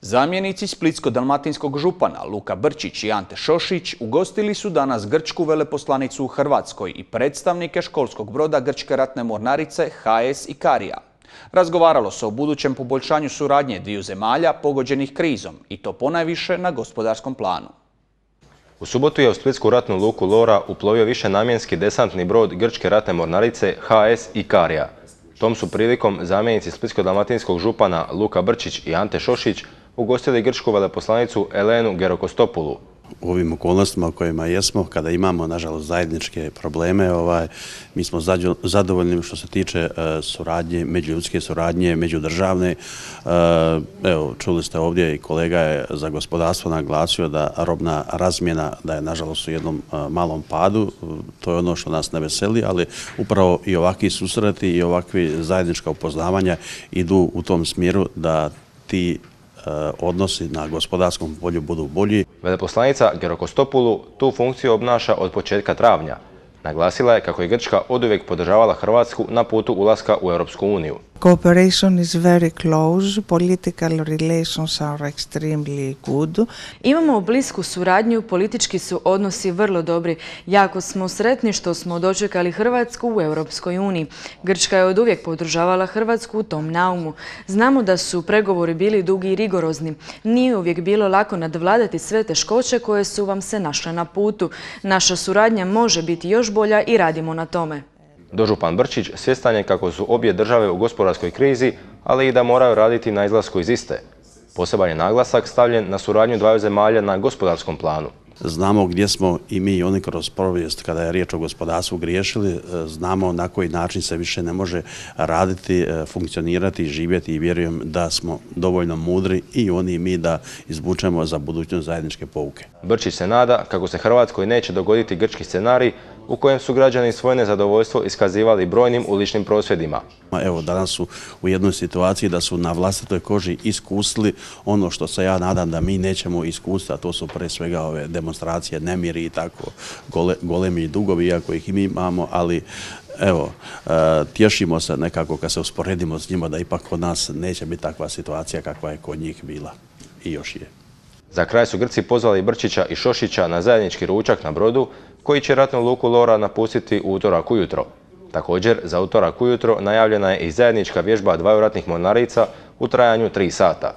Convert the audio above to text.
Zamjenici splitsko-dalmatinskog župana Luka Brčić i Ante Šošić ugostili su danas grčku veleposlanicu u Hrvatskoj i predstavnike školskog broda Grčke ratne mornarice HS Ikarija. Razgovaralo se o budućem poboljšanju suradnje dviju zemalja pogođenih krizom i to ponajviše na gospodarskom planu. U subotu je u splitsku ratnu luku Lora uplovio višenamjenski desantni brod Grčke ratne mornarice HS Ikarija. Tom su prilikom zamjenici splitsko-dalmatinskog župana Luka Brčić i Ante Šošić ugostili grčku veleposlanicu Elenu Gerokostopulu. U ovim okolnostima u kojima jesmo, kada imamo, nažalost, zajedničke probleme, mi smo zadovoljni što se tiče suradnje, međuljudske suradnje, međudržavne. Evo, čuli ste ovdje i kolega je za gospodarstvo naglasio da robna razmjena da je, nažalost, u jednom malom padu. To je ono što nas ne veseli, ali upravo i ovakvi susreti i ovakvi zajednička upoznavanja idu u tom smjeru da ti odnosi na gospodarskom polju budu bolji. Veleposlanica Gerokostopulu tu funkciju obnaša od početka travnja. Naglasila je kako je Grčka oduvijek podržavala Hrvatsku na putu ulaska u Europsku uniju. Cooperation is very close. Political relations are extremely good. Imamo blisku suradnju, politički su odnosi vrlo dobri. Jako smo sretni što smo dočekali Hrvatsku u Europskoj uniji. Grčka je oduvijek podržavala Hrvatsku u tom naumu. Znamo da su pregovori bili dugi i rigorozni. Nije uvijek bilo lako nadvladati sve teškoće koje su vam se našle na putu. Naša suradnja može biti još bolja i radimo na tome. Dožupan Brčić svjestan je kako su obje države u gospodarskoj krizi, ali i da moraju raditi na izlasku iz iste. Poseban je naglasak stavljen na suradnju dvaju zemalja na gospodarskom planu. Znamo gdje smo i mi i oni kroz povijest kada je riječ o gospodarstvu griješili, znamo na koji način se više ne može raditi, funkcionirati, živjeti i vjerujem da smo dovoljno mudri i oni i mi da izvučemo za budućnost zajedničke pouke. Brčić se nada kako se Hrvatskoj neće dogoditi grčki scenarij u kojem su građani svoje nezadovoljstvo iskazivali brojnim uličnim prosvjedima. Evo, danas su u jednoj situaciji da su na vlastitoj koži iskusili ono što se ja nadam da mi nećemo iskusiti, a to su pre svega ove demonstracije, nemiri i tako golemi dugovi, iako ih i mi imamo, ali evo, tješimo se nekako kad se usporedimo s njima da ipak kod nas neće biti takva situacija kakva je kod njih bila i još je. Za kraj su Grci pozvali Brčića i Šošića na zajednički ručak na brodu koji će ratnu luku Lora napustiti u utorak ujutro. Također, za utorak ujutro najavljena je i zajednička vježba dvaju ratnih mornarica u trajanju 3 sata.